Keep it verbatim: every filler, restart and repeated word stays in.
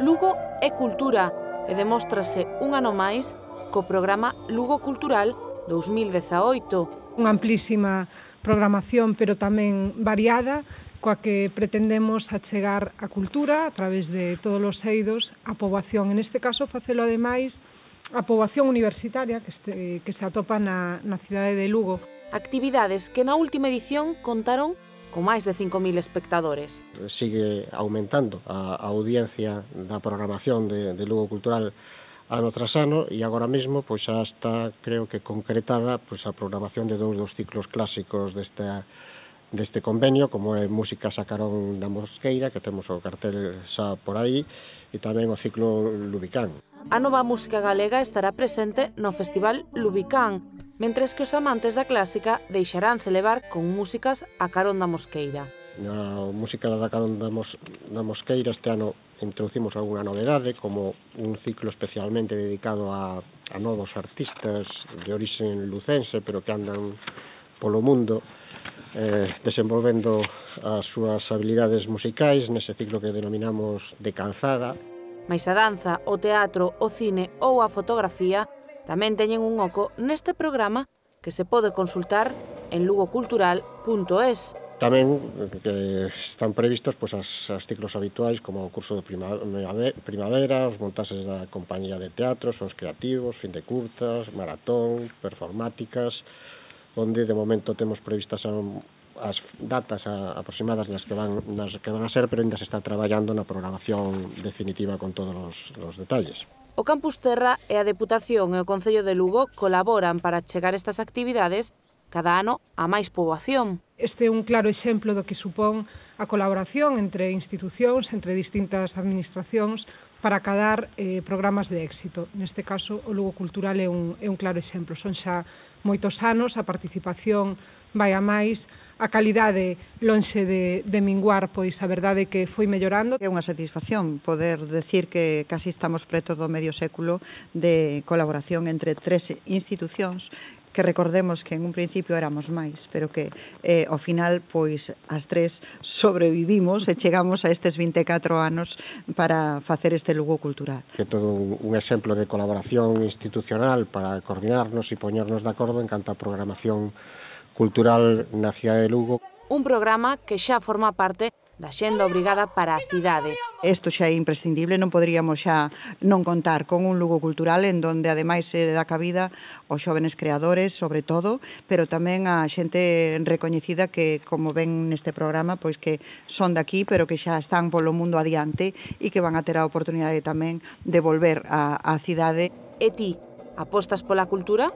Lugo é cultura e demóstrase un ano máis co programa Lugo Cultural dous mil dezaoito. Unha amplísima programación, pero tamén variada, coa que pretendemos achegar a cultura a través de todos os eidos á poboación. En este caso, facelo ademais a poboación universitaria que, este, que se atopa na, na cidade de Lugo. Actividades que na última edición contaron con máis de cinco mil espectadores. Sigue aumentando a, a audiencia da programación de, de Lugo Cultural ano tras ano e agora mesmo pois xa está, creo que concretada, pois a programación de dous dos ciclos clásicos desta deste convenio, como é Música Sacarón da Mosqueira, que temos o cartel xa por aí, e tamén o ciclo Lubicán. A nova música galega estará presente no Festival Lubicán, mentres que os amantes da clásica deixaránse levar con músicas a carón da Mosqueira. Na música da carón da, Mos da Mosqueira este ano introducimos algunha novedade, como un ciclo especialmente dedicado a, a novos artistas de orixen lucense, pero que andan polo mundo eh, desenvolvendo as súas habilidades musicais nese ciclo que denominamos de calzada. Mais a danza, o teatro, o cine ou a fotografía tamén teñen un oco neste programa que se pode consultar en lugocultural punto es. Tamén que están previstos pois, as, as ciclos habituais como o curso de primavera, os montaxes da compañía de teatros, os creativos, fin de curtas, maratón, performáticas, onde de momento temos previstas as datas aproximadas nas que van, nas que van a ser, pero ainda se está traballando na programación definitiva con todos os, os detalles. O Campus Terra e a Deputación e o Concello de Lugo colaboran para chegar estas actividades cada ano a máis poboación. Este é un claro exemplo do que supón a colaboración entre institucións, entre distintas administracións, para acadar eh, programas de éxito. Neste caso, o Lugo Cultural é un, é un claro exemplo. Son xa moitos anos, a participación vai a máis, a calidade lonxe de, de minguar, pois a verdade é que foi mellorando. É unha satisfacción poder decir que casi estamos preto do medio século de colaboración entre tres institucións que recordemos que en un principio éramos máis, pero que eh, ao final, pois, as tres sobrevivimos e chegamos a estes vinte e catro anos para facer este Lugo Cultural. É todo un exemplo de colaboración institucional para coordinarnos e poñernos de acordo en canto a programación cultural na cidade de Lugo. Un programa que xa forma parte da xenda obrigada para a cidade. Isto xa é imprescindible, non poderíamos xa non contar con un Lugo Cultural en donde ademais se dá cabida aos xóvenes creadores, sobre todo, pero tamén a xente recoñecida que, como ven neste programa, pois que son daqui, pero que xa están polo mundo adiante e que van a ter a oportunidade tamén de volver á cidade. E ti, apostas pola cultura?